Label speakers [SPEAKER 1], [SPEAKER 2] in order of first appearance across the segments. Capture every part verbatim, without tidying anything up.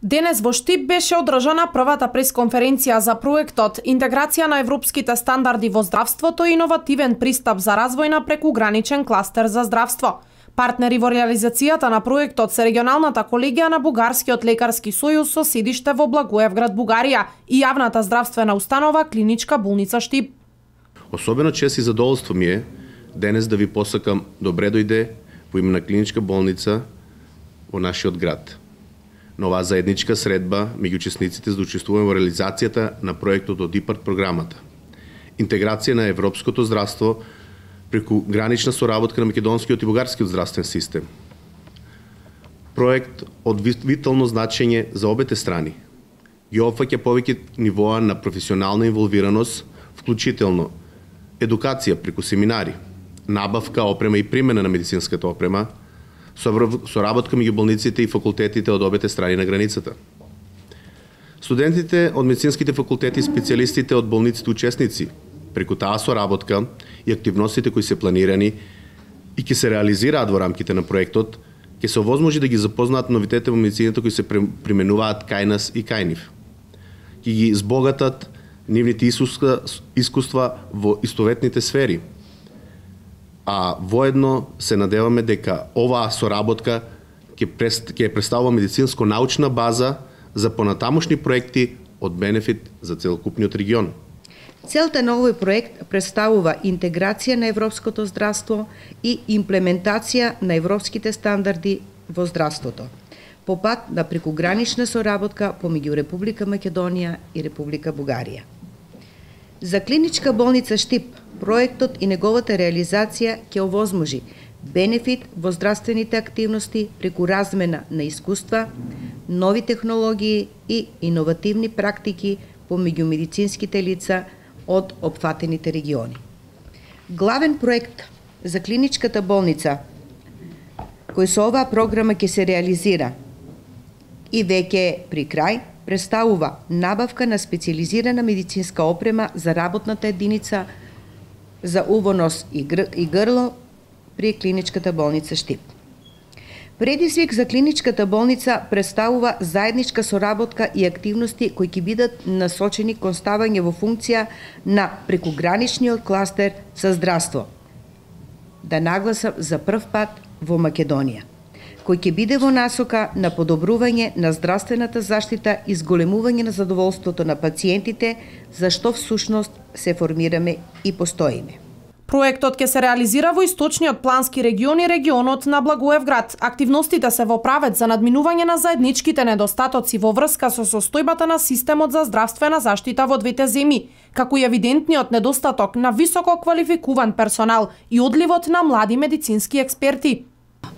[SPEAKER 1] Денес во Штип беше одржана првата пресконференција за проектот Интеграција на европските стандарди во здравството и иновативен пристап за развој на прекуграничен кластер за здравство. Партнери во реализацијата на проектот се регионалната колегија на Бугарскиот лекарски сојуз со седиште во Благоевград, Бугарија и јавната здравствена установа Клиничка болница Штип.
[SPEAKER 2] Особено чест и задоволство ми е денес да ви посакам добре дојде во име на Клиничка болница во нашиот град. На оваа заедничка средба меѓу учесниците за да учествуваме во реализацијата на проектот од ИПАРД програмата. Интеграција на европското здравство преку гранична соработка на македонскиот и бугарскиот здравствен систем. Проект од витално значење за обете страни. Ги опфаќа повеќе нивоа на професионална инволвираност, вклучително едукација преку семинари, набавка, опрема и примена на медицинската опрема, соработка меѓу болниците и факултетите од обете страни на границата. Студентите од медицинските факултети и специјалистите од болниците учесници, преку таа соработка и активностите кои се планирани и ќе се реализираат во рамките на проектот, ќе се овозможи да ги запознаат новитетите во медицината кои се применуваат кај нас и кај нив. Ќе ги збогатат нивните искуства во истоветните сфери. А воедно се надеваме дека оваа соработка ќе представува медицинско-научна база за понатамошни проекти од бенефит за целокупниот регион.
[SPEAKER 3] Целта на овој проект представува интеграција на европското здравство и имплементација на европските стандарди во здравството, по пат на прекугранична соработка помеѓу Република Македонија и Република Бугарија. За Клиничка болница Штип, проектот и неговата реализација ќе овозможи бенефит во здравствените активности преку размена на искуства, нови технологии и иновативни практики помеѓу медицинските лица од опфатените региони. Главен проект за Клиничката болница, кој со оваа програма ќе се реализира и веќе при крај, представува набавка на специјализирана медицинска опрема за работната единица за уво, нос и, гр... и грло при Клиничката болница Штип. Предизвик за Клиничката болница представува заедничка соработка и активности кои ќе бидат насочени кон ставање во функција на прекуграничниот кластер за здравство. Да нагласам за прв пат во Македонија, кој ќе биде во насока на подобрување на здравствената заштита и зголемување на задоволството на пациентите, за што всушност се формираме и постоиме.
[SPEAKER 1] Проектот ќе се реализира во источниот плански регион и регионот на Благоевград. Активностите се во правец за надминување на заедничките недостатоци во врска со состојбата на системот за здравствена заштита во двете земји, како и евидентниот недостаток на високо квалификуван персонал и одливот на млади медицински експерти.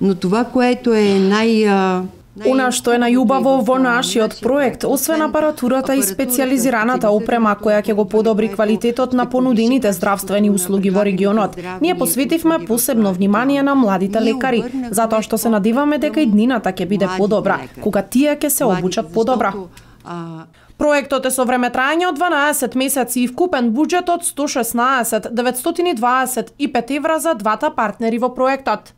[SPEAKER 4] Но това, което е нај...
[SPEAKER 1] Она што е најубаво во нашиот проект, освен апаратурата и специјализираната опрема која ќе го подобри квалитетот на понудените здравствени услуги во регионот, ние посветивме посебно внимание на младите лекари, затоа што се надеваме дека и днината ќе биде подобра, кога тие ќе се обучат подобра. Проектот е со време трајање од дванаесет месеци и вкупен буџет од сто шеснаесет деветстотини дваесет и пет евра за двата партнери во проектот.